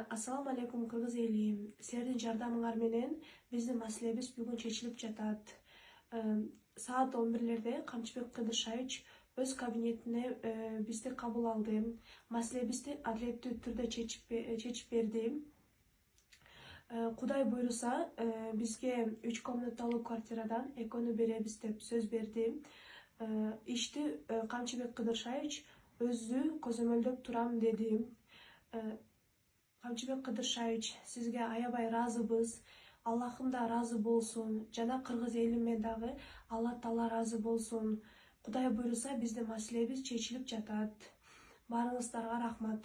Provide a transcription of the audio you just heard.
Ассаламу алейкум кыргыз эли. Силердин жардамыңар менен биздин маселебиз бүгүн чечилип жатат. Саат 11-лерде Камчыбек Кыдыршаевич өз кабинетине бизди кабыл алды. Маселебизди адилеттүү түрдө чечип берди. Кудай буйруса, бизге 3 комнаталуу квартирадан 2 беребиз деп сөз берди. Ишти Камчыбек Кыдыршаевич өзү көзөмөлдөп турам деди. Камчыбек Кыдыршаевич, сизге аябай ыраазыбыз. Аллахым да ыраазы болсун. Жана кыргыз элиме дагы Алла Таала ыраазы болсун. Кудай буйруса, биздин маселебиз чечилип жатат. Баарыңыздарга рахмат.